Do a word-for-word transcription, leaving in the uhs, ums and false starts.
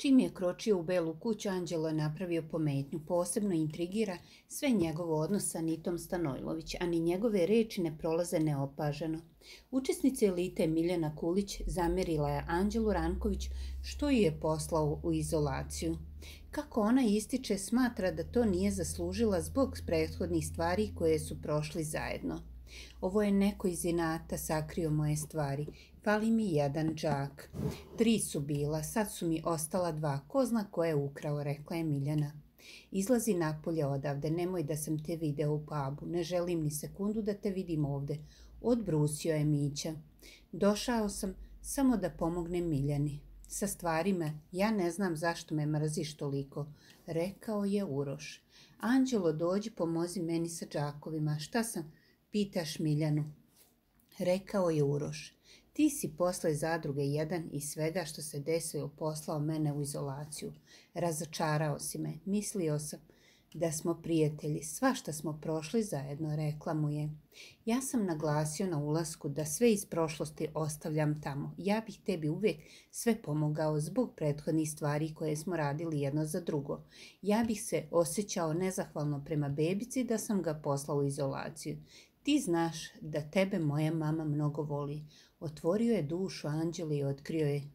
Čim je kročio u Belu kuću, Anđelo je napravio pometnju. Posebno intrigira sve njegovo odnos sa Anitom Stanojlović, a ni njegove reči ne prolaze neopaženo. Učesnica elite Miljana Kulić zamjerila je Anđelu Ranković što ju je poslao u izolaciju. Kako ona ističe, smatra da to nije zaslužila zbog prethodnih stvari koje su prošli zajedno. Ovo je neko iz inata sakrio moje stvari. Fali mi jedan džak. Tri su bila, sad su mi ostala dva. Ko zna ko je ukrao, rekla je Miljana. Izlazi napolje odavde, nemoj da sam te video u pubu. Ne želim ni sekundu da te vidim ovde. Odbrusio je Mića. Došao sam samo da pomognem Miljani. Sa stvarima, ja ne znam zašto me mrziš toliko, rekao je Uroš. Anđelo, dođi, pomozi meni sa džakovima. Šta sam? Pitaš Miljanu, rekao je Uroš. Ti si posle zadruge jedan i svega što se desilo poslao mene u izolaciju. Razočarao si me. Mislio sam da smo prijatelji. Svašta smo prošli zajedno, rekla mu je. Ja sam naglasio na ulasku da sve iz prošlosti ostavljam tamo. Ja bih tebi uvijek sve pomogao zbog prethodnih stvari koje smo radili jedno za drugo. Ja bih se osjećao nezahvalno prema bebici da sam ga poslao u izolaciju. Ti znaš da tebe moja mama mnogo voli. Otvorio je dušu Anđeli i otkrio je